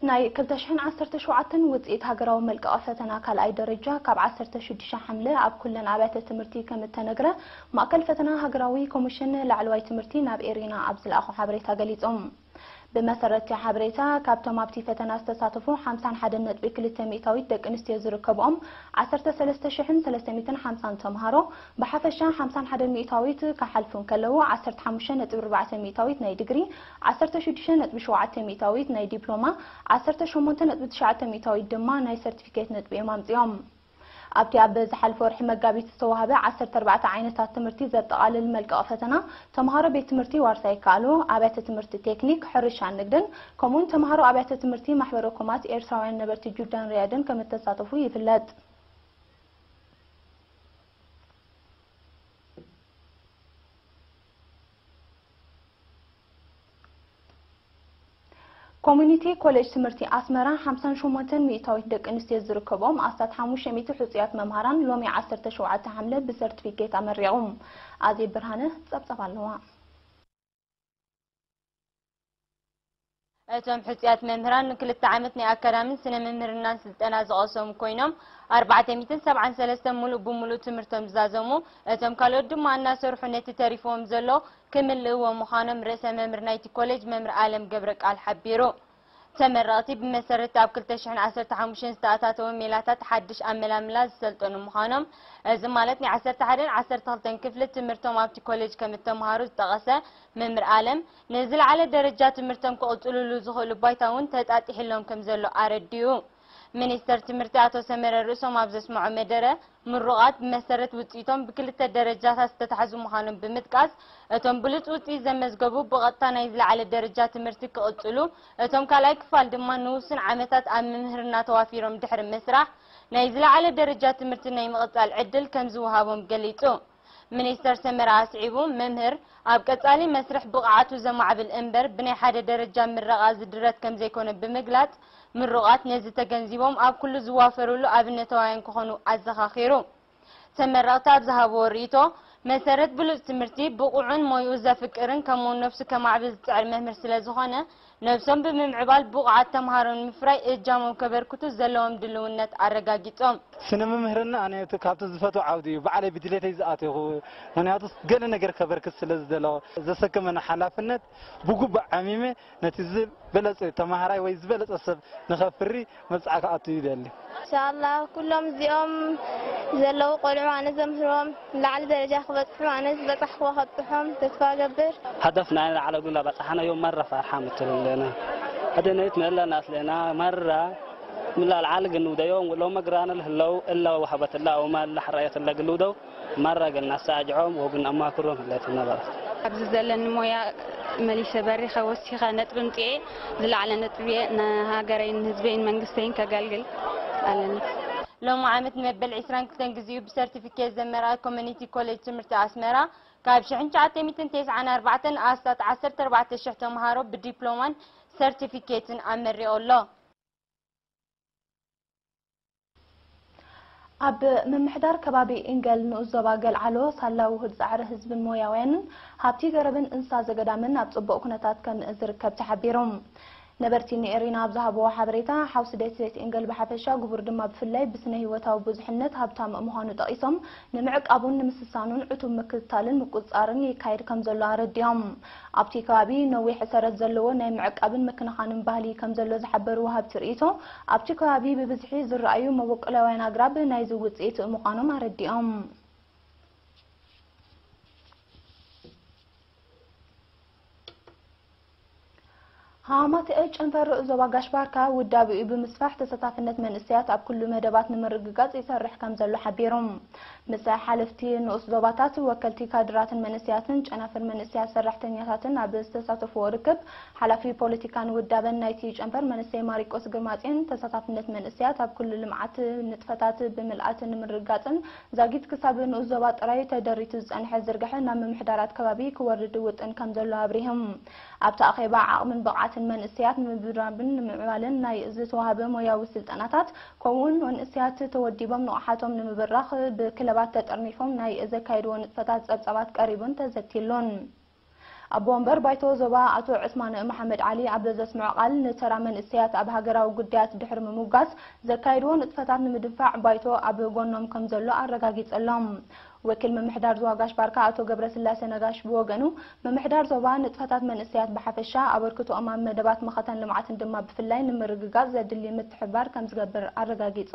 ናይ ክልተ ሽሕን ዓሰርተ ሸውዓተን ውፅኢት ሃገራዊ መልቀቒ ፈተና ካልኣይ ደረጃ ካብ ዓሰርተ ሽዱሽተ ሓምለ ኣብ ኩለን ኣብያተ ትምህርቲ ከም እተነግረ ማእከል ፈተና ሃገራዊ ኮሚሽን ላዕለዋይ ትምህርቲ ናብ ኤሪና ኣብ ዝለኣኾ ሓበሬታ ገሊጾም። ብመሰረት እቲ ሓበሬታ፣ ካብቶም ኣብቲ ፈተና ዝተሳተፉ ሓምሳን ሓደን ነጥቢ ክልተ ሚእታዊት ደቂ ኣንስትዮ ዝርከብኦም ዓሰርተ ሰለስተ ሽሕን ሰለስተ ሚእትን ሓምሳን ተምሃሮ ብሓፈሻ ሓምሳን ሓደን ሚእታዊት ክሓልፉ እንከለዉ፣ ዓሰርተ ሓሙሽተ ነጥቢ ኣርባዕተ ሚእታዊት ናይ ዲግሪ፣ ዓሰርተ ሽዱሽተ ነጥቢ ሸውዓተ ሚእታዊት ናይ ዲፕሎማ፣ ዓሰርተ ሸሞንተ ነጥቢ ትሽዓተ ሚእታዊት ድማ ናይ ሰርቲፊኬት ነጥቢ እዮም ኣምጺኦም። ኣብቲ ኣብ ዝሓለፈ ወርሒ መጋቢት ዝተዋህበ ዓሰርተ ኣርባዕተ ዓይነታት ትምህርቲ ዘጠቓልል መልቀቒ ፈተና፣ ተምሃሮ ቤት ትምህርቲ ዋርሳይ ይከኣሉ፣ ኣብያተ ትምህርቲ ቴክኒክ፣ ሕርሻን ንግድን፣ ከምኡውን ተምሃሮ ኣብያተ ትምህርቲ ማሕበረ ኮማት ኤርትራውያን ነበርቲ ጁዳን ሪያድን ከም እተሳተፉ ይፍለጥ። ኮሚኒቲ ኮሌጅ ትምህርቲ ኣስመራ ሓምሳን ሸሞንተን ሚእታዊት ደቂ ኣንስትዮ ዝርከብኦም ኣስታት ሓሙሽተ ሚእቲ ሕጹያት መምሃራን ሎሚ ዓሰርተ ሸውዓተ ሓምለ ብሰርቲፊኬት ኣመሪቖም። ኣዜብ ብርሃነ ጸብጸብ ኣለዋ። እቶም ሕጹያት መምህራን ንክልተ ዓመት ናይ ኣካዳሚን ስነ ምምህርናን ስልጠና ዝቐሰሙ ኮይኖም፣ ኣርባዕተ ሚእትን ሰብዓን ሰለስተን ሙሉእ ብሙሉእ ትምህርቶም ዝዛዘሙ፣ እቶም ካልኦት ድማ እናሰርሑ ነቲ ተሪፍዎም ዘሎ ክምልእዎ ምዃኖም ርእሰ መምህር ናይቲ ኮሌጅ መምህር ኣለም ገብረ ቃል ሓቢሩ። ተመረቕቲ ብመሰረት ኣብ ክልተ ሽሕን ዓሰርተ ሓሙሽተን ዝተኣታተወ ሜላታት ሓድሽ ኣመላምላ ዝሰልጠኑ ምዃኖም፣ እዚ ማለት ናይ ዓሰርተ ሓደን ዓሰርተ ክልተን ክፍሊ ትምህርቶም ኣብቲ ኮሌጅ ከም እተምሃሩ ዝጠቐሰ መምህር ኣለም፣ ንዝለዓለ ደረጃ ትምህርቶም ክቕጽልሉ ዝኽእሉ ባይታ እውን ተጣጢሕሎም ከም ዘሎ ኣረዲኡ። ሚኒስተር ትምህርቲ ኣቶ ሰመረ ርእሶም ኣብ ዘስምዖ መደረ፣ ምሩቓት ብመሰረት ውጽኢቶም ብክልተ ደረጃታት ዝተታሕዙ ምዃኖም ብምጥቃስ፣ እቶም ብሉጽ ውጽኢት ዘመዝገቡ ብቐጥታ ናይ ዝለዓለ ደረጃ ትምህርቲ ክቕጽሉ፣ እቶም ካልኣይ ክፋል ድማ ንውሱን ዓመታት ኣብ ምምህርና ተዋፊሮም ድሕሪ ምስራሕ፣ ናይ ዝለዓለ ደረጃ ትምህርቲ ናይ ምቕጻል ዕድል ከም ዝወሃቦም ገሊጹ። ሚኒስተር ሰመረ ኣስዒቡ፣ መምህር ኣብ ቀጻሊ መስርሕ ብቕዓቱ ዘማዕብል እምበር፣ ብናይ ሓደ ደረጃ ምረቓ ዝድረት ከም ዘይኮነ ብምግላጽ፣ ምሩቓት ነዚ ተገንዚቦም ኣብ ኩሉ ዝዋፈሩሉ ኣብነታውያን ክኾኑ ኣዘኻኺሩ። ተመረቕቲ ኣብ ዝሃብዎ ርእይቶ፣ መሰረት ብሉጽ ትምህርቲ፣ ብቑዕን ሞይኡ ዘፍቅርን ከምኡውን ነብሱ ከማዕብል ዝጽዕር መምህር ስለ ዝኾነ፣ ነብሶም ብምምዕባል ብቑዓት ተምሃሮ ንምፍራይ እጃሞም ከበርክቱ ዘለዎም ድልውነት ኣረጋጊጾም። ስነ ምምህርና ኣነ እቲ ካብቲ ዝፈትዎ ዓውዲ እዩ። ባዕለይ ብድሌተይ ዝኣተኹ፣ ምኽንያቱ ገለ ነገር ከበርክት ስለ ዝደለኹ፣ ዘሰከመኒ ሓላፍነት ብግቡእ ዓሚመ ነቲ ዝበለጸ ተማሃራይ ወይ ዝበለጸ ሰብ ንኸፍሪ መብጽዓ ክኣቱ ይደሊ። ኢንሻኣላህ ኩሎም እዚኦም ዘለዉ ቆልዑ ኣነ ዘምህሮም ላዕሊ ደረጃ ክበጽሑ ኣነ ዝበጻሕክዎ ከብጽሖም ተስፋ እገብር። هدفنا على قولة بس احنا يوم مرة فرحان مثل لنا. هذا نيت من الله ناس لنا مرة من لا العالق انه ده يوم ولو ما قرانا له لو الا وهبت الله وما الا حريت الله قلودو مرة قلنا ساجعهم وقلنا ما كرهم اللي تنظرت. ኣብዚ ዘለኒ ሞያ መሊሰ በሪኸ ወሲኸ ነጥቢ ምፅኤ ዝለዓለ ነጥቢ ንሃገረይን ህዝበይን መንግስተይን ከገልግል ኣለኒ። ሎሚ ዓመት ንመበል ዕስራን ክልተን ግዚኡ ብሰርቲፊኬት ዘመርቐ ኮሚኒቲ ኮሌጅ ትምህርቲ ኣስመራ ካብ ሽሕን ትሽዓተ ሚእትን ተስዓን ኣርባዕተን ኣስታት ዓሰርተ ኣርባዕተ ሽሕ ተምሃሮ ብዲፕሎማን ሰርቲፊኬትን ኣመሪቑ ኣሎ። ኣብ ምምሕዳር ከባቢ ኢንገል ንኡስ ዞባ ገልዓሎ ሳላ ውሁድ ጻዕሪ ህዝብን ሞያውያንን ሃብቲ ገረብን እንስሳ ዘገዳምን ኣብ ጽቡቕ ኩነታት ከም ዝርከብ ተሓቢሩ። ነበርቲ ንኤሪና ኣብ ዝሃብዎ ሓበሬታ፣ ሓውሲ ደሴት ኢንገል ብሓፈሻ፣ ጉቡር ድማ ብፍላይ ብስነ ህይወታዊ ብዙሕነት ሃብታም ምዃኑ ጠቒሶም፣ ንምዕቃቡን ንምስሳኑን ዕቱብ ምክትታልን ምቁጽጻርን ይካየድ ከም ዘሎ ኣረዲኦም። ኣብቲ ከባቢ ነዊሕ ሰረት ዘለዎ ናይ ምዕቃብን ምክንኻንን ባህሊ ከም ዘሎ ዝሓበሩ ወሃብቲ ርእይቶ፣ ኣብቲ ከባቢ ብብዝሒ ዝረኣዩ መበቆላውያን ኣግራብ ናይዚ ውጽኢት ምዃኖም ኣረዲኦም። ሃማትኤ ጨንፈር ዞባ ጋሽ ባርካ ውዳቤኡ ብምስፋሕ ተሳታፍነት መንእሰያት ኣብ ኩሉ መደባት ንምርግጋጽ ይሰርሕ ከም ዘሎ ሓቢሮም። ምስ ሓለፍቲ ንኡስ ዞባታት፣ ወከልቲ ካድራትን መንእሰያትን ጨናፍር መንእሰያት ሰራሕተኛታትን ኣብ ዝተሳተፍዎ ርክብ፣ ሓላፊ ፖለቲካን ውዳበን ናይቲ ጨንፈር መንእሰይ ማሪቆስ ግርማጽዮን፣ ተሳታፍነት መንእሰያት ኣብ ኩሉ ልምዓት ንጥፈታት ብምልኣት ንምርግጋጽን ዛጊት ክሳብ ንኡስ ዞባ ጥራይ ተደሪቱ ዝጸንሐ ዝርግሐ ናብ ምምሕዳራት ከባቢ ክወርድ ውጥን ከም ዘሎ ኣብሪሆም። ኣብቲ ኣኼባ ዓቕምን ብቕዓትን መንእሰያት ንምብራብን ንምዕባልን ናይ ዝተዋህበ ሞያዊ ስልጠናታት፣ ከምኡውን መንእሰያት ተወዲቦም ንቕሓቶም ንምብራኽ ብክለባት ተጠርኒፎም ናይ ዘካየድዎ ንጥፈታት ጸብጻባት ቀሪቡን ተዘቲሉን። ኣቦ ወንበር ባይቶ ዞባ ኣቶ ዑስማን መሓመድ ዓሊ ኣብ ዘስምዖ ቃል፣ ንተራ መንእሰያት ኣብ ሃገራዊ ጉዳያት ድሕሪ ምምጓስ፣ ዘካየድዎ ንጥፈታት ንምድንፋዕ ባይቶ ኣብ ጎኖም ከም ዘሎ ኣረጋጊጸሎም። ወኪል ምምሕዳር ዞባ ጋሽ ባርካ ኣቶ ገብረስላሴ ነጋሽ ብወገኑ፣ ምምሕዳር ዞባ ንጥፈታት መንእሰያት ብሓፈሻ፣ ኣበርክቶኦም ኣብ መደባት መኸተን ልምዓትን ድማ ብፍላይ ንምርግጋጽ ዘድሊ ምትሕብባር ከም ዝገብር ኣረጋጊጹ።